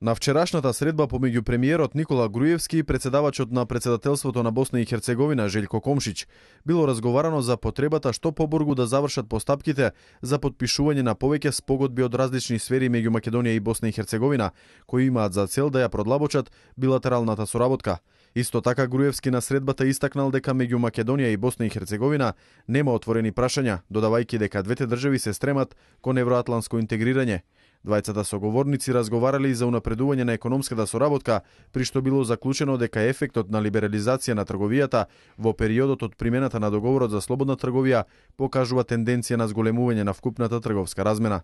На вчерашната средба помеѓу премиерот Никола Груевски и председавачот на председателството на Босна и Херцеговина Желјко Комшиć било разговарано за потребата што побрзо да завршат постапките за потпишување на повеќе спогодби од различни сфери меѓу Македонија и Босна и Херцеговина, кои имаат за цел да ја продлабочат билатералната соработка. Исто така Груевски на средбата истакнал дека меѓу Македонија и Босна и Херцеговина нема отворени прашања, додавајќи дека двете држави се стремат кон евроатланско интегрирање. Двајцата соговорници разговарале и за унапредување на економската соработка, при што било заклучено дека ефектот на либерализација на трговијата во периодот од примената на договорот за слободна трговија покажува тенденција на зголемување на вкупната трговска размена.